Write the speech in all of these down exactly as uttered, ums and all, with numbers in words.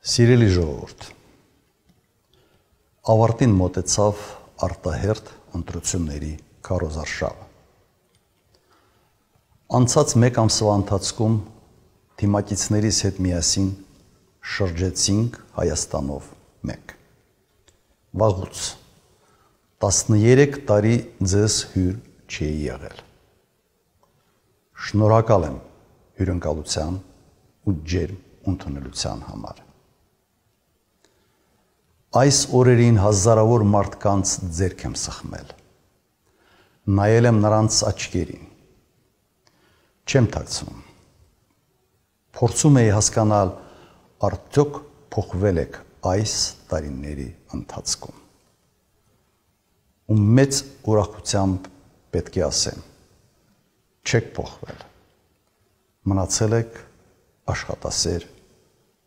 Սիրելի ժողովուրդ, ավարտին մոտեցավ արտահերթ ընտրությունների քարոզարշավը։ Անցած մեկ ամսվա ընթացքում թիմակիցներիս հետ միասին շրջեցինք Հայաստանով մեկ։ Վաղուց տասներեք տարի ձեզ հյուր չի եղել։ Շնորհակալ եմ հյուրընկալության ու ջերմ ընդունելության համար։ Այս օրերին հազարավոր մարդկանց ձեռք եմ սխմել, նայել եմ նրանց աչքերին, չեմ թաքցնում, փորձում էի հասկանալ, արդյոք փոխվել եք այս տարիների ընթացքում։ Ու մեծ ուրախությամբ պետք է ասեմ, չեք փոխվել, մնացել եք աշխատասեր,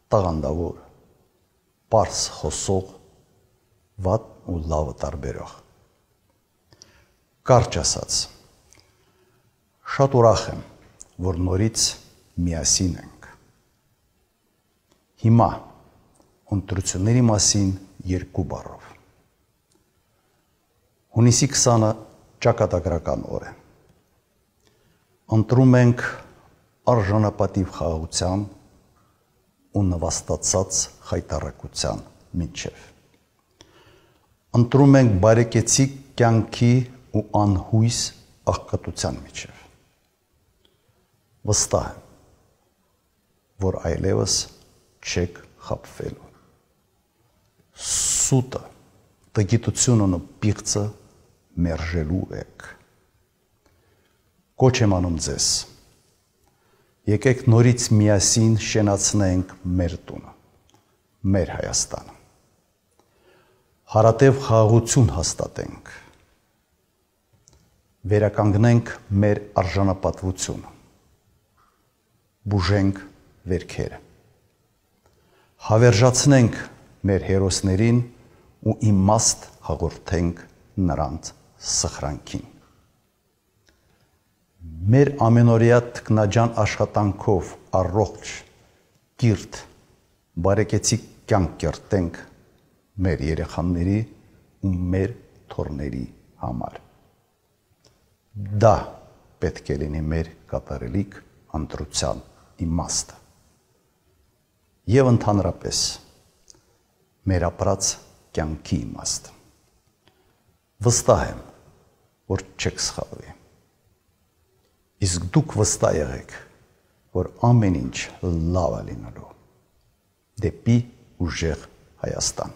տաղանդավոր, պարզ խոսող, վատ ու լավը տարբերող։ Կարճ ասած, շատ ուրախ եմ, որ նորից միասին ենք։ Հիմա ընտրությունների մասին երկու բառով։ Հունիսի քսանը ճակատագրական օր է։ Ընտրում ենք արժանապատիվ խաղաղության ու նվաստացած խայտառակության միջև։ Ընտրում ենք բարեկեցիկ կյանքի ու անհույս աղքատության միջև։ Վստահ եմ, որ այլևս չեք խաբվելու։ Սուտը, տգիտությունն ու պիղծը մերժելու եք։ Կոչ եմ անում ձեզ, եկեք նորից միասին շենացնենք մեր տունը, մեր Հայաստանը։ Հարատև խաղաղություն հաստատենք, վերականգնենք մեր արժանապատվությունը, բուժենք վերքերը, հավերժացնենք մեր հերոսներին ու իմաստ հաղորդենք նրանց սխրանքին։ Մեր ամենօրյա թքնաջան աշխատանքով առողջ, կիրթ, բարեկեցիկ կյանք կերտենք մեր երեխաների ու մեր թոռների համար։ Դա պետք է լինի մեր կատարելիք ընտրության իմաստը և ընդհանրապես մեր ապրած կյանքի իմաստը։ Վստահ եմ, որ չեք սխալվի։ Իսկ դուք վստահ եղեք, որ ամեն ինչ լավ է լինելու դեպի ուժեղ Հայաստան։